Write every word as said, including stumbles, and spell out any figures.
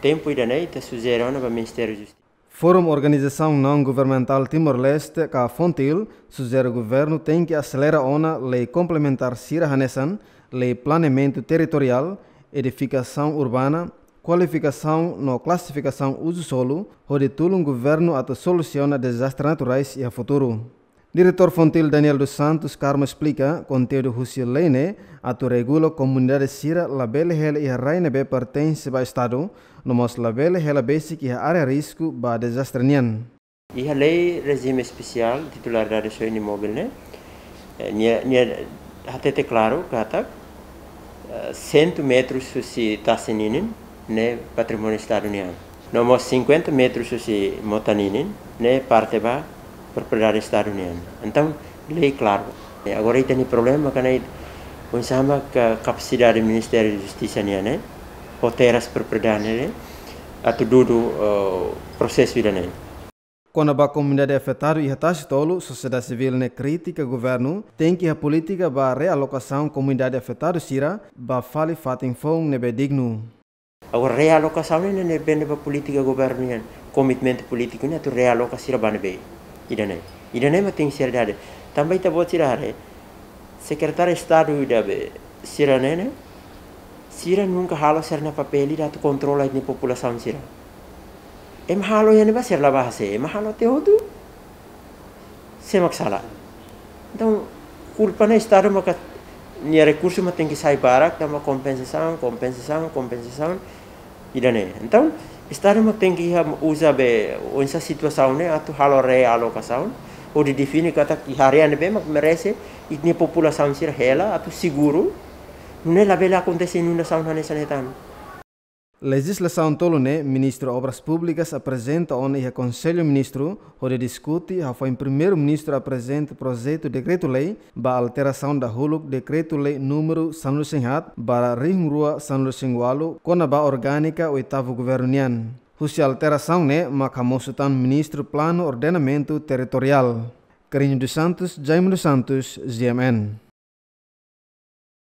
Tempu ida-ne'e ita sujere ona ba Ministériu Justisa. Forum Organizasaun Naun Governamentál Timor-Leste ka FONGTIL sujere governu tenke aselera ona lei komplementár sira hanesan lei planeamentu territoriál, edifikasaun urbana, kualifikasaun no klasifikasaun uzu solu, hodi tulun governu atu solusiona dezastre naturais iha futuru. Diretór FONGTIL Daniel dos Santos Carmo esplika konteúdu husi lei ne'e atu regula komunidade sira labele hela iha rai ne'ebé pertense ba Estadu, no mós labele hela besik iha área risku ba dezastre nian. Iha lei rejime espesiál titularidade soin imóvel ne'e, eh, nia, nia hatete klaru katak, eh, cem metros husi tasi ninin ne'e patrimóniu Estadu nian. No mós cinquenta metros husi mota ninin ne'e parte ba propriedade Estadu nian. Entaun, lei klaru. Eh, agora ita-nia problema ka ne'e, oinsá mak kapasidade Ministériu Justisa nian ne'e, ho terras propriedade ne'e, atu dudu, eh, prosesu ida-ne'e. Kona-ba komunidade afetadu iha Tasi Tolu, sosiedade sivíl ne'e kritika governu tenke iha polítika ba realokasaun komunidade afetadu sira ba fali fatin foun ne'ebé dignu. Agora realokasaun ne'e ne'e depende ba polítika governu nian, komitmentu polítiku nian atu realoka sira ba ne'ebé. Ida-ne'e. Ida-ne'e mak tenke seriedade. Tanba ita-boot sira haree, Sekretáriu Estadu ida be sira-ne'e ne'e, sira nunka halo sira-nia papél ida atu kontrola ita-nia populasaun sira. Ema halo iha ne'ebá sira la bá hase'e, ema halo tiha hotu, sé mak sala. Entaun, kulpa ne'e Estadu maka nia rekursu mak tenke sai barak, tanba kompensasaun, kompensasaun, kompensasaun, ida-ne'e. Entaun, Estadu mak tenke iha uza be oinsá situasaun ne'e atu halo realokasaun, hodi define katak iha área ne'ebé mak merese, ita-nia populasaun sira hela atu seguru, nune'e labele akontese inundasaun hanesan ne'e tan. Lejizlasaun tolu ne'e Ministru Obras Públikas aprezenta ona iha Konsellu Ministru, hodi diskute hafoin Primeiru-Ministru aprezenta projetu dekretu-lei ba alterasaun dahuluk Dekretu-Lei númeru sanulu-resin-haat barra rihun rua sanulu-resin-ualu kona-ba orgánika oitavu governu nian. Husi alterasaun ne'e mak hamosu tan Ministru Planu Ordenamentu Territoriál. Carrinho dos Santos, Jaime dos Santos, G M N.